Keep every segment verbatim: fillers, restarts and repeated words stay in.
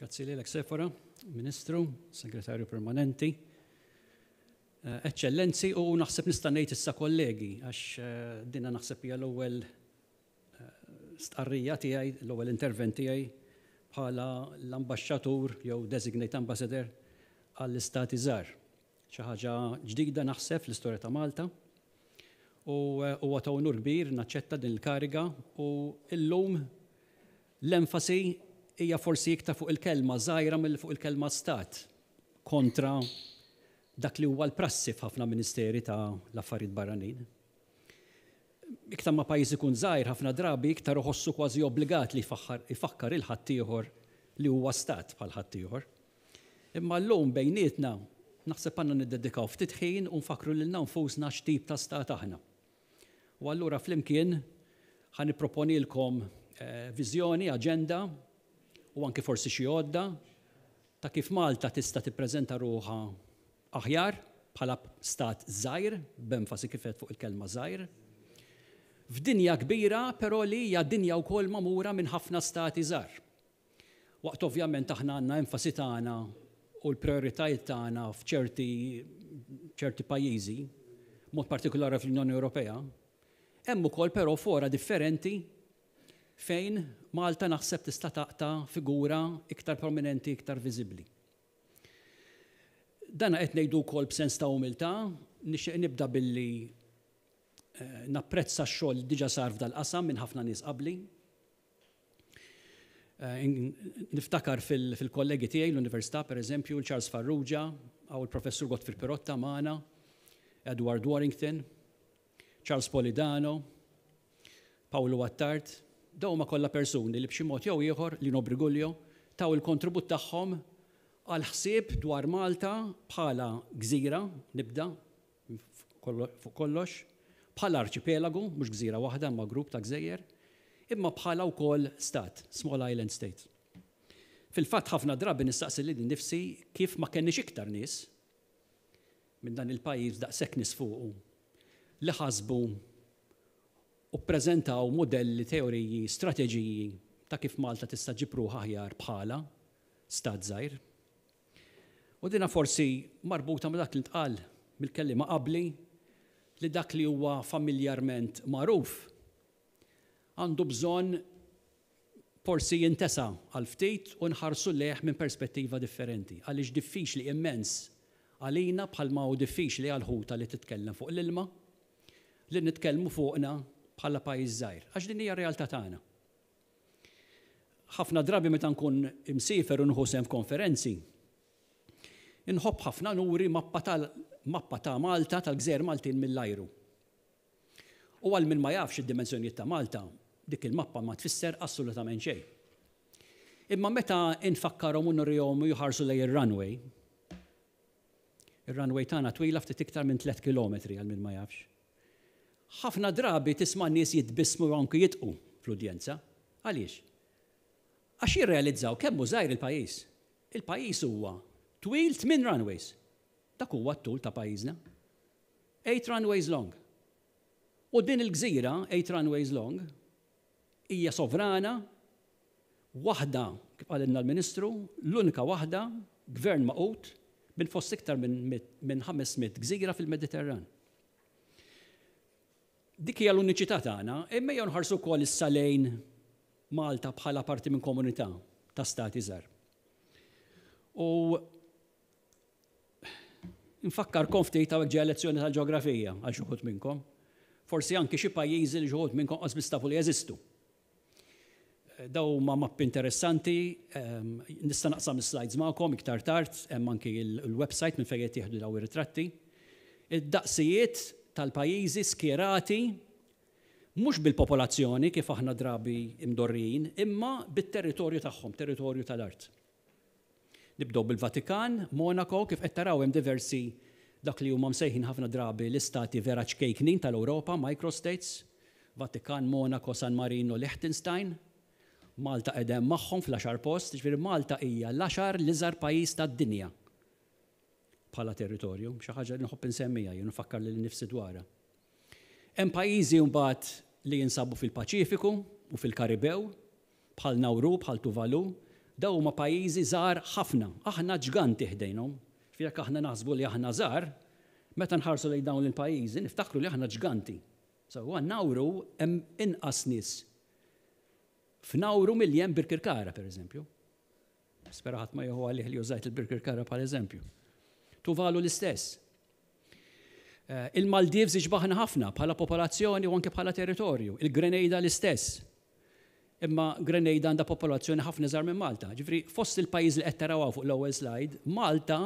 Grazzi lilek, Sefora, Ministru, Segretarju Permanenti, eh, Eċċellenzi u naħseb nista' ngħid issa kollegi, għax eh, dina naħseb hija l-ewwel eh, stqarrija tiegħi, l-ewwel intervent tiegħi bħala l-ambaxxatur jew designate ambassador għall-istati żgħar. Xi ħaġa ġdida naħseb fl-istorja ta' Malta. U huwa ta' unur kbir naċċetta din il-kariga u illum l-enfasi hija forsi iktar fuq il-kelma żgħira mill fuq il-kelma stat kontra dak li huwa l-prassi f'ħafna ministeri ta' l-affarijiet barranin. Iktar ma pajjiż ikun żgħir, ħafna drabi iktar iħossu kważi obbligat li jfakkar lil ħaddieħor li huwa stat bħal ħaddieħor. Imma llum bejnietna naħseb għandna niddedikaw ftit ħin u nfakru lilna nfusna x'tip ta' stat aħna. U allura flimkien ħa nipproponilkom eh, viżjoni, aġenda u anke forsi xi għodda ta' kif Malta tista' tippreżenta ruħha aħjar bħala stat żgħir, b'enfasi kif fuq il-kelma żgħir. F'dinja kbira, però li hija dinja wkoll magħmura minn ħafna stati żgħar. Waqt ovvjament aħna għandna enfasi tagħna u l-prioritajiet tagħna f'ċerti ċerti pajjiżi, mod partikolari fl-Unjoni Ewropea, hemm ukoll però fora differenti fejn Malta naħseb tista' taqta' figura iktar prominenti, iktar viżibbli. Dana qed ngħidu wkoll b'sens ta' umiltà. Nixtieq nibda billi eh, napprezza x-xogħol li diġà sar f'dal-qasam minn ħafna nies qabli. Eh, niftakar fil-kollegi tiegħi l-Università, pereżempju, l-Charles Farrugia, għaw il-Professur Godfrey Pirotta magħna, Edward Warrington, Charles Polidano, Paolo Attard. Dawn huma kollha persuni li b'xi mod jew ieħor, Lino Briguglio, taw il-kontribut tagħhom għal ħsieb dwar Malta bħala gżira, nibda fuq kollox, bħala arċipelagu, mhux gżira waħda ma' grupp ta' gżejjer, imma bħala wkoll stat, small island state. Fil-fatt ħafna drabi nistaqsi lili nnifsi kif ma kenniex iktar nies minn dan il-pajjiż, daqshekk nies fuqu, li ħasbu u ppreżentaw modelli, teoriji, strateġiji ta' kif Malta tista' ġġib ruħha aħjar bħala stat żgħir. U dina forsi marbuta ma' dak li ntqal mill-kelliema qabli, li dak li huwa familjarment magħruf għandu bżonn forsi jintesa għal ftit u nħarsu lejh minn perspettiva differenti. Għaliex diffiċli immens għalina, bħalma hu diffiċli għal ħuta li titkellem fuq l-ilma, li nitkellmu fuqna bħala pajjiż żgħir. Għax din hija realtà tagħna. Ħafna drabi meta nkun imsiefer u nieħu sehem f'konferenzi, inħobb ħafna nuri mappa tal mappa ta' Malta, tal-Gżejjer Maltin, mill-ajru. U għal min ma jafx id-dimensjonijiet ta' Malta, dik il-mappa ma tfisser assolutament xejn. Imma meta infakkarhom u nurihom u jħarsu lejn ir-runway, ir-runway tagħna twila ftit iktar minn tliet kilometri, għal min ma jafx. Ħafna drabi tisma' nies jitbissmu u anki jidħku fl-udjenza. Għaliex? Għax jirrealizzaw kemm hu żgħir il-pajjiż. Il-pajjiż huwa twil tmien runways. Dak huwa t-tul ta' pajjiżna. Eight runways long. U din il-gżira, eight runways long, hija sovrana, waħda, kif qalilna l-Ministru, l-unika waħda, gvern magħqud, minn fost iktar minn ħames mitt gżira fil-Mediterran. Dik hija l-uniċità tagħna, imma jew nħarsu wkoll issa lejn Malta bħala parti minn komunità ta' stati żgħar. U nfakkarkom ftit hawnhekk, ġeja lezzjoni tal-ġeografija għal xi wħud minnkom. Forsi anki xi pajjiżi li xi wħud minnkom qas biss tafu li jeżistu. Dawn huma mappi interessanti, ehm, nista' naqsam is-slides magħkom iktar tard, hemm anki il-website minn fejn jieħdu daw ir-ritratti. Id-daqsijiet tal-pajjiżi skjerati mhux bil-popolazzjoni kif aħna drabi imdorrijin, imma bit-territorju tagħhom, territorju tal-art. Nibdew bil-Vatikan, Monaco, kif qed taraw hemm diversi dak li huma msejħin ħafna drabi l-istati vera ċkejknin tal-Ewropa, microstates, Vatikan, Monaco, San Marino, Liechtenstein. Malta qegħda magħhom fl-għaxar post, ġifieri Malta hija l-għaxar l-iżgħar pajjiż tad-dinja bħala territorju, xi ħaġa li nħobb insemmija, jien nfakkar lili nnifsi dwarha. Hemm pajjiżi mbagħad li jinsabu fil-Paċifiku u fil-Karibew, bħal Nauru, bħal Tuvalu, Dawn huma pajjiżi żgħar ħafna, aħna ġganti ħdejnhom. Jekk aħna naħsbu li aħna żgħar, meta nħarsu lejn dawn il-pajjiżi niftakru li aħna ġganti. Sewwa, Nauru hemm inqas nies f'Nauru milli hemm Birkirkara, pereżempju. Spera ħadd ma jieħu għalih li użajt il-Birkirkara bħal eżempju. Tuvalu l-istess. Il-Maldives iġbaħna ħafna bħala popolazzjoni u anke bħala territorju. Il-Grenada l-istess. Imma Grenada għandha popolazzjoni ħafna iżgħar minn Malta. Ġifieri fost il-pajjiż li qed taraw fuq l-ewwel slide, Malta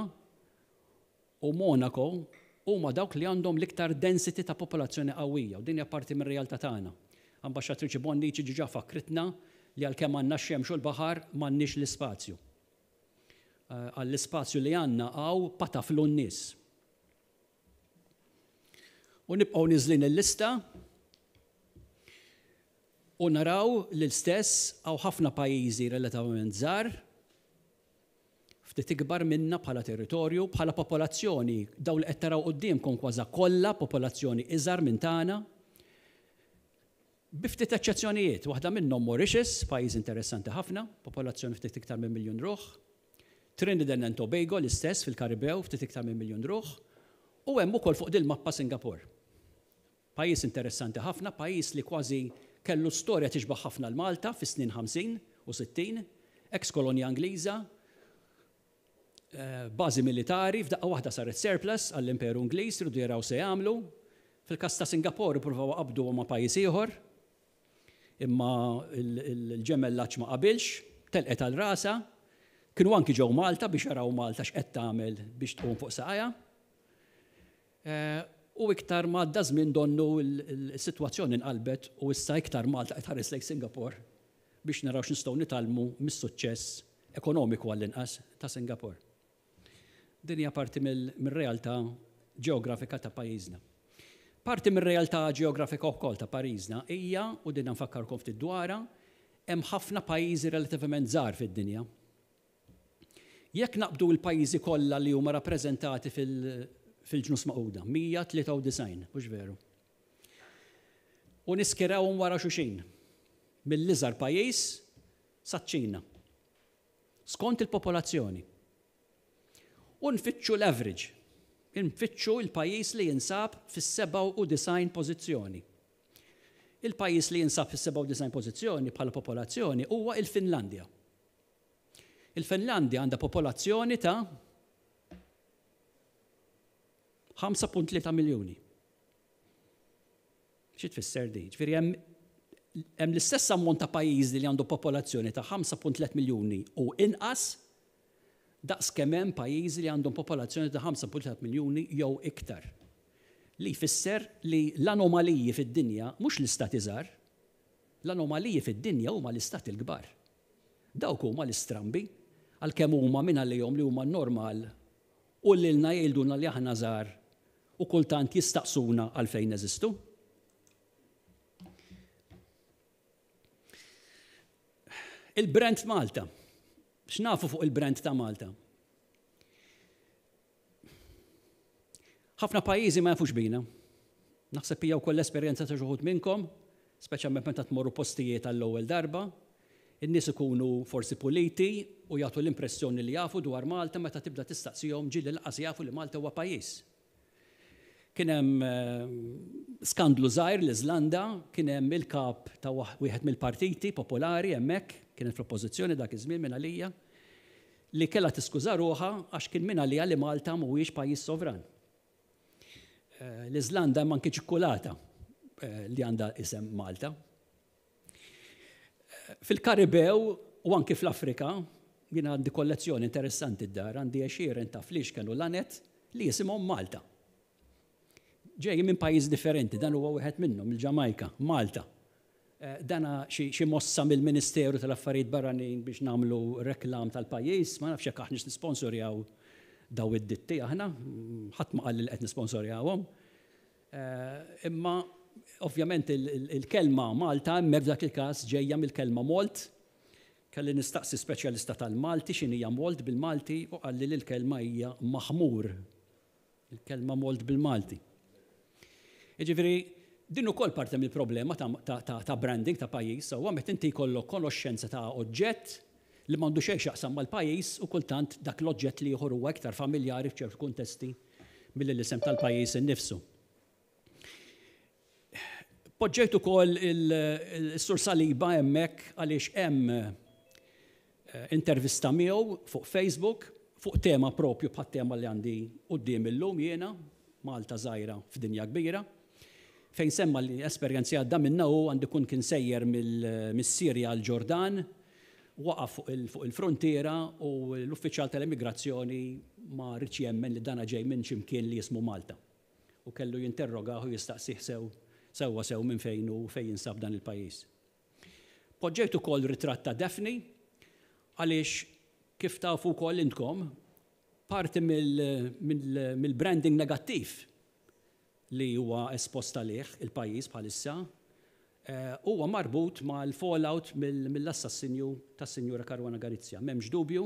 u Monaco huma dawk li għandhom l-iktar density ta' popolazzjoni qawwija, u din hija parti mir-realtà tagħna. Ambaxxatriċi Bonnici ġiġa fakritna li għalkemm għandna x-xemx u l-baħar m'għandniex l-ispazju. Għall-ispazju li għandna hawn pataflu n-nies. U nibqgħu niżlin il-lista u naraw l-istess hawn ħafna pajjiżi relattivament żgħar, ftit ikbar minna bħala territorju, bħala popolazzjoni, dawn li qed taraw quddiemkom kważi kollha popolazzjoni iżgħar minn tagħna. Bi ftit eċċezzjonijiet, waħda minnhom Mauritius, pajjiż interessanti ħafna, popolazzjoni ftit iktar minn miljun ruħ. Trinidad and Tobago l-istess fil-Karibew, ftit iktar minn miljun ruħ. U hemm ukoll fuq dil-mappa Singapore. Pajjiż interessanti ħafna, pajjiż li kważi kellu storja tixbaħ ħafna l-Malta fis-snin ħamsin u sittin, ex-kolonja Ingliża, bażi militari, f'daqqa waħda saret surplus għall-Imperu Ingliż, rridu jaraw se jagħmlu. Fil-każ ta' Singapore ippruvaw qabdu ma' pajjiż ieħor, imma il-ġemellaġġ ma qabilx, telqet għal rasa. Kienu anki ġew Malta biex jaraw Malta x'qed tagħmel biex tqum fuq saqajha. U iktar ma għadda żmien donnu l-sitwazzjoni nqalbet u issa iktar Malta qed tħares lejn Singapore biex naraw x'nistgħu nitgħallmu mis-suċċess ekonomiku għall-inqas ta' Singapore. Din hija parti mir-realtà ġeografika ta' pajjiżna. Parti mir-realtà ġeografika wkoll ta' pajjiżna hija, u din nfakkarkom ftit dwarha, hemm ħafna pajjiżi relattivament żgħar fid-dinja. Jekk naqbdu l-pajjiżi kollha li huma rappreżentati fil-ġnus Magħquda, mija tlieta u disgħin, mhux veru. U niskirawhom wara xulxin, mill-iżgħar pajjiż saċ-Ċina. Skont il-popolazzjoni. U nfittxu l-average. Nfittxu l-pajjiż li jinsab fis-sebgħa u disgħin pożizzjoni. Il-pajjiż li jinsab fis-sebgħa u disgħin pożizzjoni bħala popolazzjoni huwa il-Finlandja. Il-Finlandja għandha popolazzjoni ta' ħamsa punt tlieta miljuni. Xi tfisser di? Ġifieri hemm hemm l-istess ammont ta' pajjiżi li għandu popolazzjoni ta' ħamsa punt tliet miljuni u inqas daqs kemm hemm pajjiżi li għandhom popolazzjoni ta' ħamsa punt tliet miljuni jew iktar. Li jfisser li l-anomaliji fid-dinja mhux l-istati żgħar, l-anomaliji fid-dinja huma l-istati l-kbar. Dawk huma l-istrambi, għalkemm huma minn għalihom li huma normal u lilna jgħidulna li aħna żgħar u kultant jistaqsuna għalfejn neżistu. Il-brand Malta. X'nafu fuq il-brand ta' Malta? Ħafna pajjiżi ma jafux bina. Naħseb hija wkoll l-esperjenza ta' xi wħud minnkom, speċjalment meta tmorru postijiet għall-ewwel darba, in-nies ikunu forsi puliti u jagħtu l-impressjoni li jafu dwar Malta meta tibda tistaqsihom ġieli lanqas jafu li Malta huwa pajjiż. Kien hemm skandlu żgħir l-Iżlanda, kien hemm il-kap ta' wieħed mill-partiti popolari hemmhekk, kienet fl-oppożizzjoni dak iż-żmien minn għalija, li kellha tiskuża ruħha għax kien minn għalija li Malta mhuwiex pajjiż sovran. L-Iżlanda hemm anke ċikkulata li għandha isem Malta. Fil-Karibew u anke fl-Afrika, jien għandi kollezzjoni interessanti d-dar, għandi għexieren ta' flixken u lanet li jisimhom Malta. Ġej minn pajjiż differenti, dan huwa wieħed minnhom, il-Ġamajka, Malta. Dana xi mossa mill-Ministeru tal-Affarijiet Barranin biex nagħmlu reklam tal-pajjiż, ma nafx jekk aħniex nisponsorjaw daw id-ditti aħna, ħadd ma qal li qed nisponsorjawhom. Imma ovvjament il-kelma Malta hemmhekk f'dak il-każ ġejja mill-kelma Malt. Kelli nistaqsi speċjalista tal-Malti x'inhi Malt bil-Malti u qalli li l-kelma hija maħmur. Il-kelma Malt bil-Malti. Jiġifieri din ukoll parti mill-problema ta', ta, ta, ta' branding ta' pajjiż, sewwa meta inti jkollok konoxxenza ta' oġġett li m'għandu xejn x'jaqsam mal-pajjiż u kultant dak l-oġġett li ieħor huwa iktar familjari f'ċertu kuntesti milli l-isem tal-pajjiż innifsu. Poġġejt ukoll il-Sur Saliba hemmhekk għaliex hemm eh, intervista miegħu fuq Facebook fuq tema propju bħat tema li għandi quddiem illum jiena, Malta żgħira f'dinja kbira, fejn semma li esperjenzi għadda minna u għandu kun kien sejjer mill-Sirja għal Ġordan, waqaf fuq il-frontiera u l-uffiċjal tal-immigrazzjoni ma riedx jemmen li dana ġej minn ximkien li jismu Malta. U kellu jinterrogahu u jistaqsih sew sewwa sew minn fejn u fejn jinsab dan il-pajjiż. Poġġejt ukoll ritratt ta' Daphne għaliex, kif tafu wkoll intkom, parti mill-branding negattiv li huwa espost għalih il-pajjiż bħalissa eh, huwa marbut mal-fallout mill-assassinju tas-Sinjura Caruana Galizia. M'hemmx dubju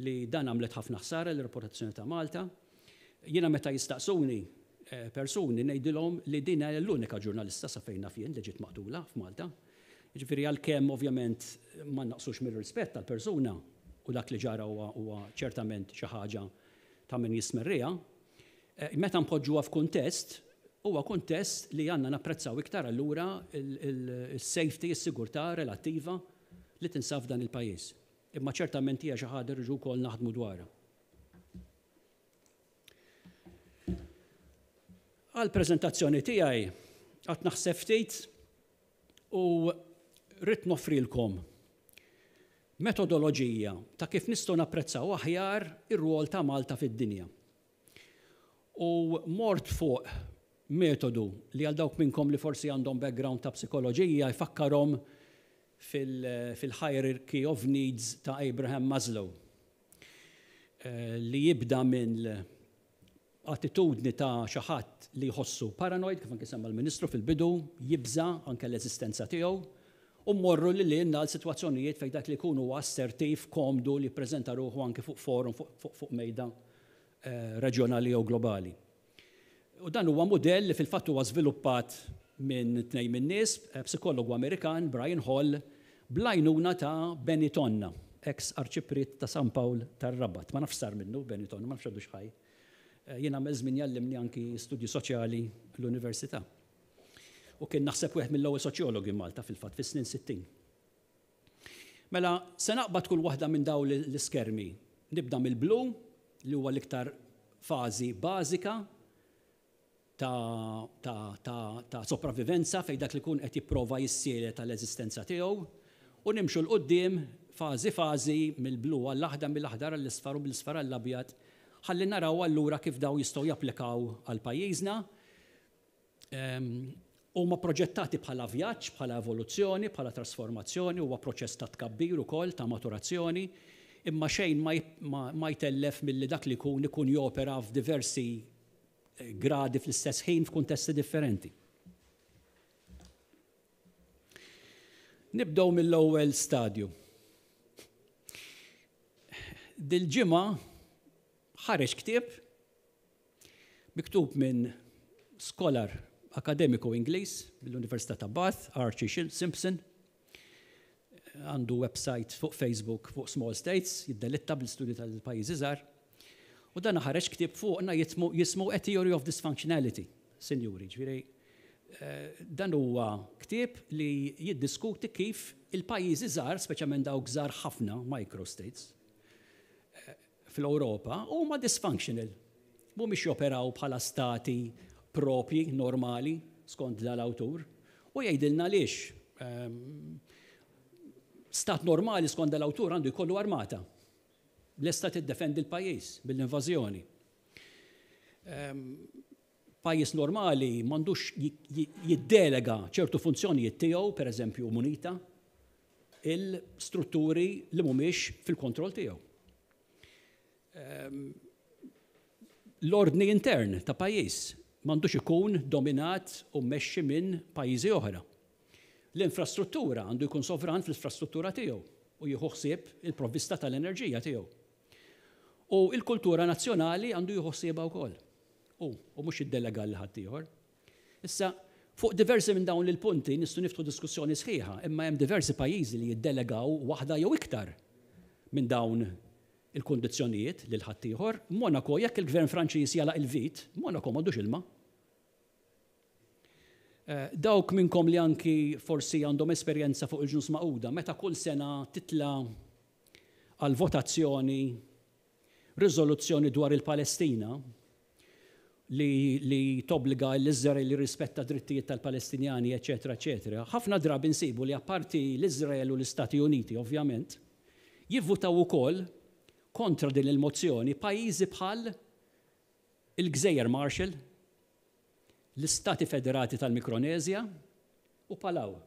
li dan għamlet ħafna ħsara l-reputazzjoni ta' Malta. Jiena meta jistaqsuni eh, persuni ngħidilhom li din hija l-unika ġurnalista sa fejn naf jien li ġiet maqtula f'Malta. Ġifieri, għalkemm ovvjament ma naqsux mir-rispett tal-persuna u dak li ġara huwa ċertament xi ħaġa ta' min jismerriha, eh, meta npoġġuha f'kuntest, huwa kuntest li għandna napprezzaw iktar allura il-safety, is-sigurtà relattiva li tinsab f'dan il-pajjiż. Imma ċertament hija xi ħaġa rridu wkoll naħdmu dwarha. Għal-preżentazzjoni tiegħi qatt naħseb ftit u rrid noffrilkom metodoloġija ta' kif nistgħu napprezzaw aħjar ir-rwol ta' Malta fid-dinja. U mort fuq metodu li għal dawk minnkom li forsi għandhom background ta' psikoloġija jfakkarhom fil-hierarchy of needs ta' Abraham Maslow, eh, li jibda minn attitudni ta' xi ħadd li jħossu paranoid, kif anke semma l-Ministru fil-bidu, jibża anke l-eżistenza tiegħu, u mmorru li li għal sitwazzjonijiet fejn dak li jkunu assertiv, komdu, li jippreżenta ruħu anke fuq forum, fuq, fuq mejda eh, reġjonali jew globali. U dan huwa mudell li fil-fatt huwa żviluppat minn tnejn minn nies, eh, psikologu Amerikan, Brian Hall, bl-għajnuna ta' Benny Tonna, ex arċipriet ta' San Pawl tar-Rabat. Ma nafx sar minnu Benny Tonna, ma nafx għadu x'ħaj. Eh, jien għamel żmien jallimni anki studji soċjali l-università. U kien naħseb wieħed mill-ewwel soċjologi Malta fil-fatt fis-snin sittin. Mela, se naqbad kull waħda minn dawn l-iskermi. Nibda mill-blu, li huwa l-iktar fażi bażika ta', ta, ta, ta' sopravivenza fejn dak li kun qed jipprova jissielet tal-eżistenza tiegħu, u nimxu 'l quddiem fażi fażi mill-blu għall-aħdar, mill-aħdar għall-isfar u mill-isfar għall-abjad, ħalli naraw allura kif daw jistgħu japplikaw għal pajjiżna. Huma proġettati bħala vjaġġ, bħala evoluzzjoni, bħala trasformazzjoni, huwa proċess ta' tkabbir ukoll, ta' maturazzjoni, imma xejn ma, ma, ma jtellef milli dak li jkun ikun jopera f'diversi eh, gradi fl-istess ħin f'kuntesti differenti. Nibdew mill-ewwel stadju. Dil-ġimgħa ħareġ ktieb miktub minn scholar akademiku Ingliż mill-Università ta' Bath, Archie Simpson. Għandu website fuq Facebook fuq Small States, jiddelitta bl-istudju tal-pajjiżi żgħar. U dan ħareġ ktieb fuqna jismu A Theory of Dysfunctionality, sinjuri. Ġifieri, eh, dan huwa ktieb li jiddiskuti kif il-pajjiżi żgħar, speċjalment dawk żgħar ħafna, microstates, eh, fl-Ewropa, huma dysfunctional. Mhumiex joperaw bħala stati propji, normali, skont dal-awtur, u jgħidilna għaliex. Ehm, stat normali skont dal-awtur għandu jkollu armata. Lesta tiddefendi l-pajjiż mill-invażjoni. Ehm, pajjiż normali m'għandux jiddelega ċertu funzjonijiet tiegħu, per eżempju munita, il-strutturi li mhumiex fil-kontroll tiegħu. Ehm, l-ordni intern ta' pajjiż m'għandux ikun dominat u mmexxi minn pajjiżi oħra. L-infrastruttura, għandu jkun sovran fl-infrastruttura tiegħu u jieħu ħsieb il-provvista tal-enerġija tiegħu. U il-kultura nazzjonali għandu jieħu ħsiebha wkoll. U, u mhux jiddelega lil ħaddieħor. Issa, fuq diversi minn dawn il-punti nistgħu niftħu diskussjoni sħiħa, imma hemm diversi pajjiżi li jiddelegaw waħda jew iktar minn dawn il-kondizzjonijiet lil ħaddieħor. Monaco, jekk il-gvern Franċiż jagħlaq il-vit, Monaco m'għandux ilma. Eh, dawk minnkom li anki forsi għandhom esperjenza fuq il-Ġnus Magħquda, meta kull sena titla għal votazzjoni riżoluzzjoni dwar il-Palestina li, li tobbliga l-Izrael li rispetta drittijiet tal-Palestinjani, eċetera, eċetera. Ħafna drabi nsibu li apparti l-Izrael u l-Istati Uniti, ovvjament, jivvutaw ukoll kontra din il-mozzjoni pajjiżi bħal il-Gżejjer Marshall, l-Istati Federati tal-Mikronezja u Palau.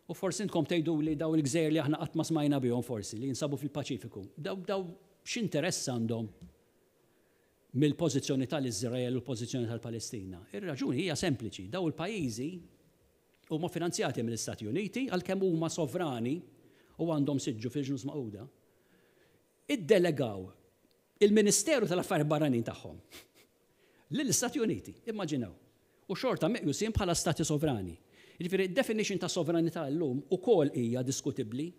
U forsi intkom tgħidu li daw il-gżejjer li aħna qatt ma smajna bihom forsi li jinsabu fil-Paċifiku. Daw daw x'interess għandhom mill-pożizzjoni tal-Iżrael u l-pożizzjoni tal-Palestina? Ir-raġuni hija sempliċi. Daw il-pajjiżi huma finanzjati mill-Istati Uniti, għalkemm huma sovrani u għandhom siġġu fil-Ġnus Magħquda. Iddelegaw il-Ministeru tal-Affarijiet Barranin tagħhom lill-Istati Uniti, immaġinaw. U xorta meqjusin bħala stati sovrani. Jiġifieri definition ta' sovranità llum ukoll hija diskutibbli.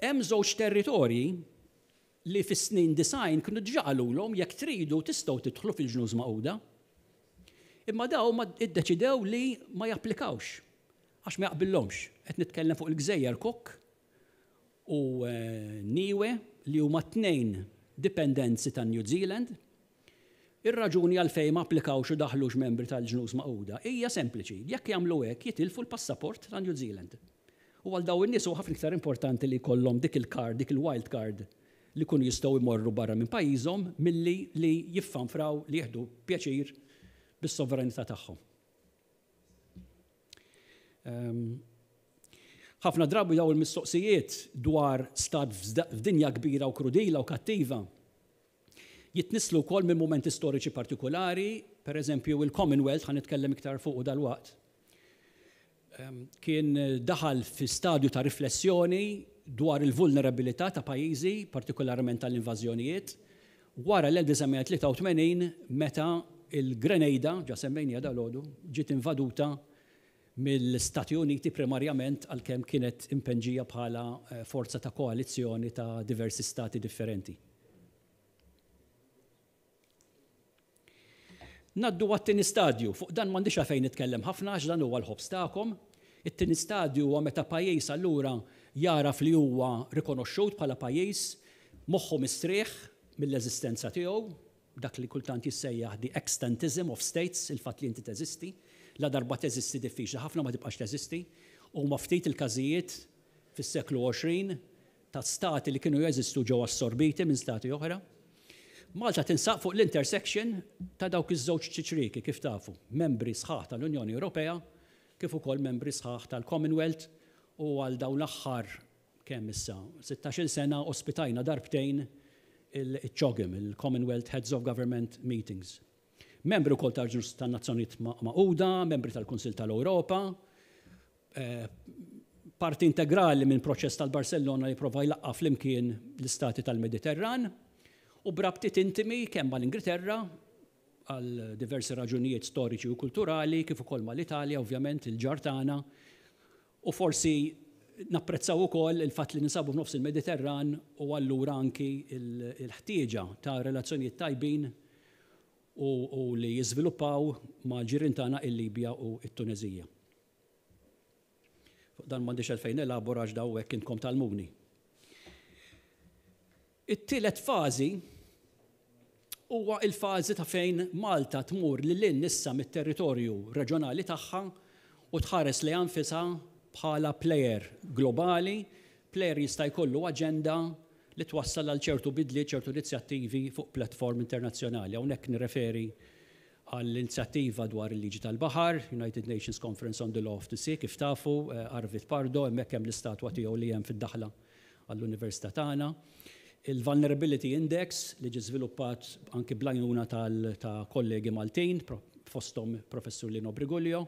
Hemm żewġ territorji li fis-snin disgħin kienu diġà qalulhom: "Jekk tridu tistgħu tidħlu fil-Ġnus Magħquda." Imma daw ma iddeċidew li ma japplikawx għax ma jaqbillhomx. Qed nitkellem fuq il-Gżejjer Cook u eh, Niue, li huma tnejn dipendenzi ta' New Zealand. Ir-raġuni għalfejn ma applikawx u daħlux membri tal-Ġnus Magħquda hija sempliċi: jekk jagħmlu hekk jitilfu l-passaport ta' New Zealand. U għal daw in-nies huwa ħafna iktar importanti li jkollhom dik il-card, dik il-wild card li kunu jistgħu jmorru barra minn pajjiżhom milli li jiffanfraw li jieħdu pjaċir bis-sovranità tagħhom. Ehm, ħafna drabi daw il-mistoqsijiet dwar stat f'dinja kbira u krudila u kattiva jitnislu wkoll minn momenti storiċi partikolari, per eżempju il-Commonwealth, ħa nitkellem iktar fuq dal-waqt, ehm, kien daħal fi stadju ta' riflessjoni dwar il-vulnerabilità ta' pajjiżi, partikolarment tal-invażjonijiet, wara l-elf disa' mija tlieta u tmenin, meta il-Grenada, ġa semmejniha dalgħodu, ġiet invaduta mill-Stati Uniti primarjament, għalkemm kienet impenġija bħala eh, forza ta' koalizzjoni ta' diversi stati differenti. Ngħaddu għat-tieni stadju. Fuq dan m'għandix għalfejn nitkellem ħafna għax dan huwa l-ħobż tagħkom. It-tieni stadju huwa meta pajjiż allura jaraf li huwa rikonoxxut bħala pajjiż, moħħu mistrieħ mill-eżistenza tiegħu, dak li kultant jissejjaħ the extantism of states, il-fatt li inti teżisti. La darba teżisti, diffiċli ħafna ma tibqax teżisti. U ma ftit il-każijiet fis-seklu għoxrin ta' stati li kienu jeżistu ġew assorbiti minn stati oħra. Malta tinsab fuq l-intersection ta' dawk iż-żewġ ċiċriki, kif tafu, membri sħaħ tal-Unjoni Ewropea kif ukoll membri sħaħ tal-Commonwealth, u għal dawn l-aħħar kemm issa sittax-il sena ospitajna darbtejn il-CHOGM, il-Commonwealth Heads of Government Meetings. Membri wkoll tal-Ġnus tan-Nazzjonijiet Magħquda, membri tal-Kunsill tal-Ewropa, eh, parti integrali minn proċess tal-Barcellona li prova jlaqqa flimkien l-istati tal-Mediterran u b'rabtiet intimi kemm mal-Ingilterra għal diversi raġunijiet storiċi u kulturali, kif ukoll mal-Italja, ovvjament il-ġar tagħna, u forsi napprezzaw ukoll il-fatt li ninsabu f'nofs il-Mediterran u allura anki il-ħtieġa ta' relazzjonijiet tajbin u, u li jiżviluppaw mal-ġirien tagħna, il-Libja u it-Tunezija. Fuq dan m'għandix għalfejn nelabora għax daw hekk intkom tgħallmuni. It-tielet fażi huwa il-fażi ta' fejn Malta tmur lil hinn issa mit-territorju reġjonali tagħha u tħares lejha nfisha bħala player globali, player jista' jkollu aġenda li twassal għal ċertu bidli, ċertu inizjattivi fuq platform internazzjonali. Hawnhekk nirreferi għall-inizjattiva dwar il-liġi tal-baħar, United Nations Conference on the Law of the Sea, kif tafu, eh, Arvid Pardo, hemmhekk hemm l-istatwa tiegħu li hemm fid-daħla għall-Università tagħna. Il-Vulnerability Index li ġi żviluppat anki bl-għajnuna ta' kollegi Maltin, fosthom Professur Lino Briguglio.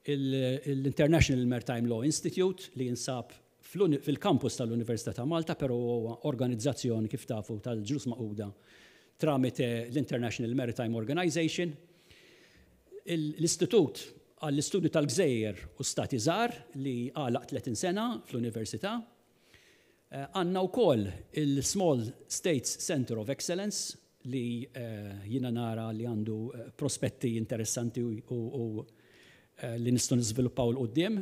L-International Maritime Law Institute li jinsab fil-campus tal-Università ta' Malta, però huwa organizzazzjoni, kif tafu, tal-Ġnus Magħquda tramite l-International Maritime Organization. L-Istitut għall-Istudju tal-Gżejjer u Stati Żgħar li għalaq tletin sena fl-Università. Għandna wkoll il-Small States Center of Excellence li jiena nara li għandu prospetti interessanti u li nistgħu niżviluppaw 'l quddiem,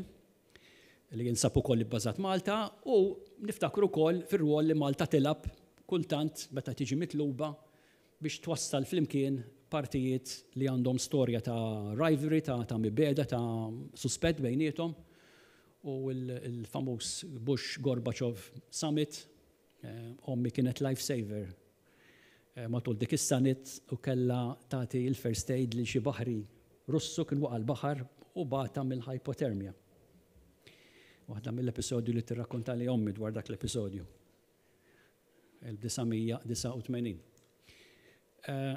li jinsab ukoll ibbażat Malta, u niftakru wkoll fir-rwol li Malta tilgħab kultant meta tiġi mitluba biex twassal flimkien partijiet li għandhom storja ta' rivalry, ta', ta' mibegħda, ta' suspett bejniethom, u il-famuż Bush Gorbachev Summit. eh, ommi kienet lifesaver eh, matul dik is-summit u kella tagħti il-first aid li xi baħri Russu kien waqa' l-baħar u bata mill-hypothermia. Waħda mill-episodju li tirrakkonta li ommi dwar dak l-episodju. elf disa' mija disgħa u tmenin. Eh,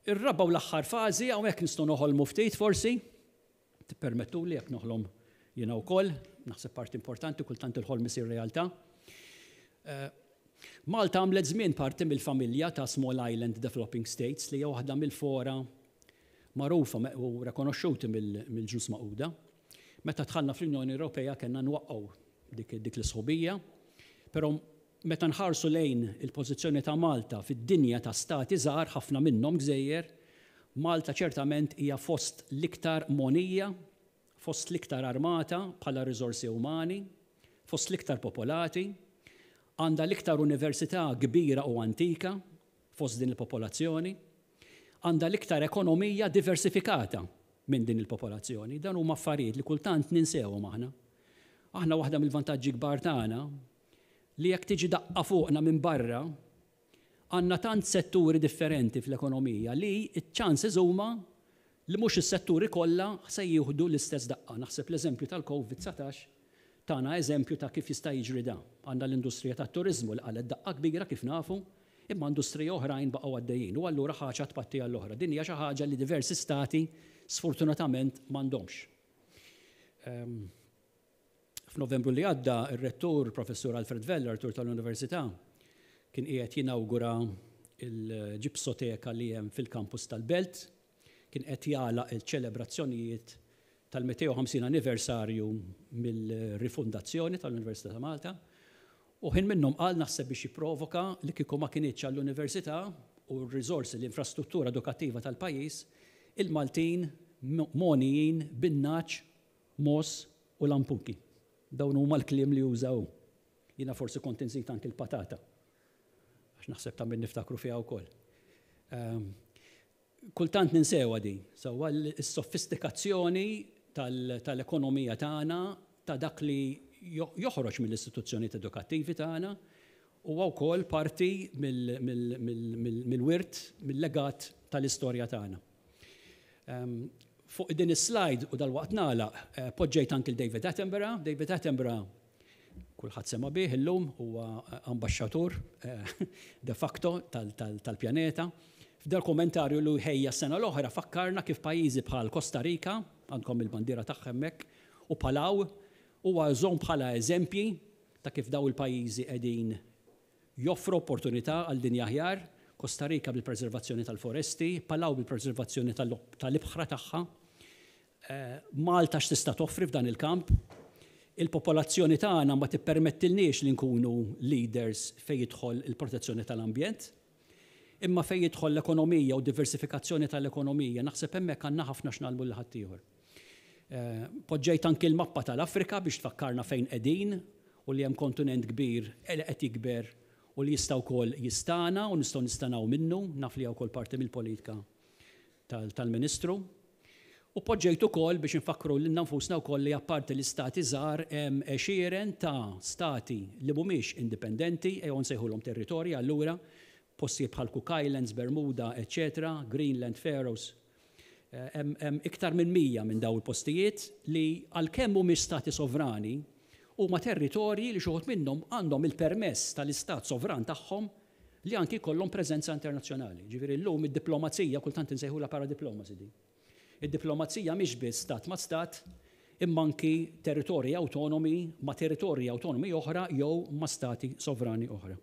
Ir-raba' u l-aħħar fażi, hawnhekk nistgħu noħolmu ftit forsi, tippermettu li jekk noħlom jiena wkoll, naħseb parti importanti, kultant il-ħolm isir realtà. Eh, Malta għamlet żmien parti mill-familja ta' Small Island Developing States, li hija waħda mill-fora magħrufa u rekonoxxuti mill-Ġnus Magħquda. Meta dħalna fl-Unjoni Ewropea kellna nwaqqgħu dik, dik l-isħubija, però meta nħarsu lejn il-pożizzjoni ta' Malta fid-dinja ta' stati żgħar, ħafna minnhom gżejjer, Malta ċertament hija fost l-iktar mogħnija, fost l-iktar armata bħala riżorsi umani, fost l-iktar popolati, għandha l-iktar università kbira u antika fost din il-popolazzjoni, għandha l-iktar ekonomija diversifikata minn din il-popolazzjoni. Dan huma affarijiet li kultant ninsewhom aħna. Aħna waħda mill-vantaġġi kbar tagħna li jekk tiġi daqqa fuqna minn barra, għandna tant setturi differenti fl-ekonomija li ċ-chances huma li mhux is-setturi kollha se jieħdu l-istess daqqa. Naħseb l-eżempju tal-Covid dsatax tana eżempju ta' kif jista' jiġri da. Għandna l-industrija tat-turiżmu li qalgħet daqqa kbira kif nafu, imma industrija oħrajn baqgħu għaddejjin. U allura ħaġa tpatti għall-oħra. Din hija xi ħaġa li diversi stati sfortunatament m'għandhomx. Um, F'Novembru li għadda, ir-rettur Professur Alfred Vella, rettur tal-Università, kien qiegħed jinawgura il-ġipsoteka li hemm fil-kampus tal-Belt, kien qed jagħlaq il-ċelebrazzjonijiet tal-mitejn u ħamsin anniversarju mill-rifondazzjoni tal-Università ta' Malta. U ħin minnhom qal, naħseb biex jipprovoka, li kieku ma kinitx għall-università u r-riżorsi, l-infrastruttura edukattiva tal-pajjiż, il-Maltin mogħnijin bin-nagħaġ, mogħoż u lampuki. Dawn huma l-kliem li użaw. Jiena forsi kont inżid anki l-patata. Għax naħseb ta' min niftakru fiha wkoll. Um, kultant ninsewa di, sewwa, s-sofistikazzjoni tal-ekonomija tagħna, ta' dak li joħroġ mill-istituzzjonijiet edukattivi tagħna, huwa wkoll parti mill-wirt, mill-legat tal-istorja tagħna. Um, fuq din is-slide, u dal-waqt nagħlaq, eh, poġġejt anki David Attenborough. David Attenborough kulħadd sema bih illum, huwa ambaxxatur eh, de facto tal-pjaneta. F'dal kommentarju li ħejja s-sena l-oħra fakkarna kif pajjiżi bħal Costa Rica, għandkom il-bandiera tagħha hemmhekk, u Palau, huwa żomm bħala eżempji ta' kif daw il-pajjiżi qegħdin joffru opportunità għal dinja aħjar: Costa Rica bil-preservazzjoni tal-foresti, Palau bil-preservazzjoni tal-ibħra tagħha. Eh, Malta x'tista' toffri f'dan il-kamp? Il-popolazzjoni tagħna ma tippermettilniex li nkunu leaders fejn jidħol il-protezzjoni tal-ambjent. Imma fejn jidħol l-ekonomija u diversifikazzjoni tal-ekonomija, naħseb hemmhekk għandna ħafna x'nagħmlu lil ħaddieħor. Eh, poġġejt anki l-mappa tal-Afrika biex tfakkarna fejn qegħdin u li hemm kontinent kbir li qed jikber u li jista' wkoll jistana u nistgħu nistanaw minnu, naf li wkoll parti mill-politika tal-Ministru. U poġġejt ukoll biex nfakru lilna nfusna wkoll li apparti l-istati żgħar hemm għexieren ta' stati li mhumiex indipendenti, ejjew nsejħulhom territorji allura, postijiet bħal Cook Islands, Bermuda, eccetera, Greenland, Faroes. Eh, hemm iktar minn mija minn daw il-postijiet li għalkemm mhumiex stati sovrani, huma territorji li xi wħud minnhom għandhom il-permess tal-istat sovran tagħhom li anki kollhom preżenza internazzjonali. Ġifieri llum id-diplomazija kultant insejħula paradiplomacy di. Id-diplomazija mhix biss stat ma' stat, imma anki territorji autonomi ma' territorji autonomi oħra jew ma' stati sovrani oħra.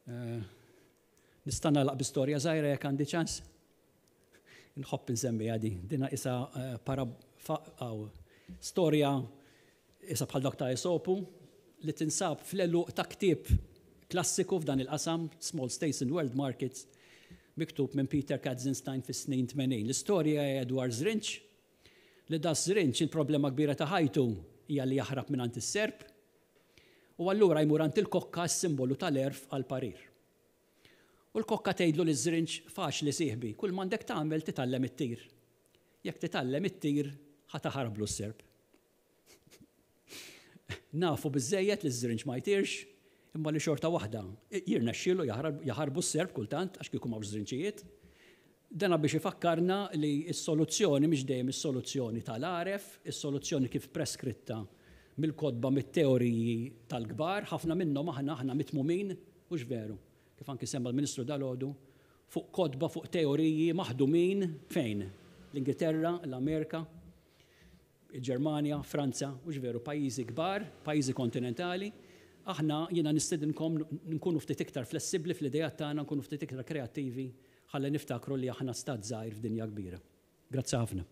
Uh, Nista' nagħlaq bi storja żgħira jekk għandi ċans? Nħobb insemmi għadi, dina isa uh, para storja isa bħal dak ta' Esopu li tinsab fl-għeluq ta' ktieb klassiku f'dan il-qasam, Small States in World Markets, miktub minn Peter Katzenstein fis-snin tmenin. L-istorja hija dwar żrinġ, li da żrinġ il-problema kbira ta' ħajtu hija li jaħrab minn għand is-serp, u allura jmur għand il-kokka, s-simbolu tal-għerf, għal parir. U l-kokka tgħidlu liż-żrinġ: "Faċli sieħbi, kull m'għandek tagħmel titgħallem ittir. Jekk titgħallem ittir, ħa taħarblu s-serp." Nafu biżejjed li ż-żrinġ ma jtirx, imma li xorta waħda jirnexxielu jaħarbu s-serp kultant, għax kieku m'hawnx żrinċijiet. Dana biex ifakkarna li s-soluzzjoni mhix dejjem is-soluzzjoni tal-għaref, is-soluzzjoni kif preskritta mill-kotba, mit-teoriji tal-kbar, ħafna minnhom aħna aħna mitmumin, mhux veru, kif anki semma l-Ministru dalgħodu, fuq kotba, fuq teoriji maħdumin fejn? L-Ingilterra, l-Amerika, il-Ġermanja, Franza, mhux veru, pajjiżi kbar, pajjiżi kontinentali. Aħna jiena nistedinkom nkunu ftit iktar flessibbli fl-idejat tagħna, nkunu ftit iktar kreattivi, ħalli niftakru li aħna stat żgħir f'dinja kbira. Grazzi ħafna.